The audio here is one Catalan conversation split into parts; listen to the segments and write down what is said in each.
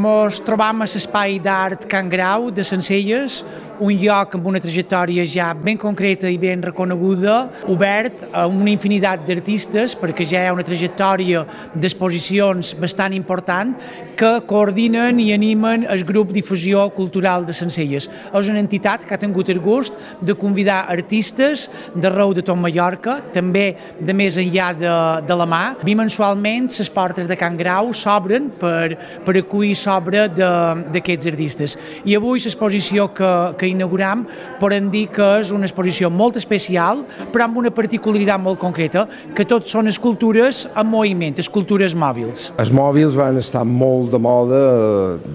Ens trobam a l'Espai d'Art Can Grau de Sencelles, un lloc amb una trajectòria ja ben concreta i ben reconeguda, obert a una infinitat d'artistes, perquè ja hi ha una trajectòria d'exposicions bastant important que coordinen i animen el grup Difusió Cultural de Sencelles. És una entitat que ha tingut el gust de convidar artistes d'arreu de tot Mallorca, també de més enllà de la mà. Bimensualment les portes de Can Grau s'obren per acollir l'obra d'aquests artistes. I avui l'exposició que inauguram podem dir que és una exposició molt especial, però amb una particularitat molt concreta, que tot són escultures en moviment, escultures mòbils. Els mòbils van estar molt de moda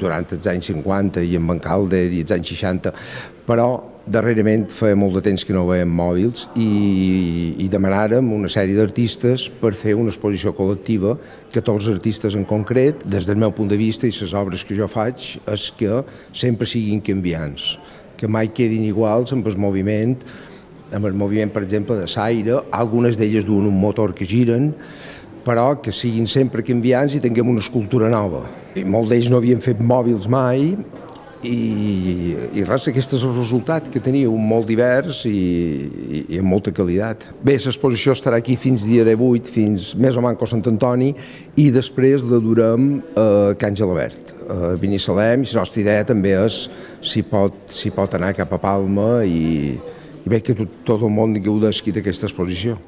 durant els anys 50 i en Van Calder i els anys 60, però darrerament feia molt de temps que no veiem mòbils i demanàrem una sèrie d'artistes per fer una exposició col·lectiva, 14 artistes en concret. Des del meu punt de vista i les obres que jo faig és que sempre siguin canviants, que mai quedin iguals amb el moviment, per exemple, de l'aire, algunes d'elles duen un motor que giren, però que siguin sempre canviants i tinguem una escultura nova. I molts d'ells no havien fet mòbils mai, i res, aquest és el resultat que teniu, molt divers i amb molta qualitat. Bé, l'exposició estarà aquí fins dia 18, fins més o manco Sant Antoni, i després la durem a Can Gelabert, a Binissalem, i la nostra idea també és si pot anar cap a Palma i bé que tot el món gaudeixi d'aquesta exposició.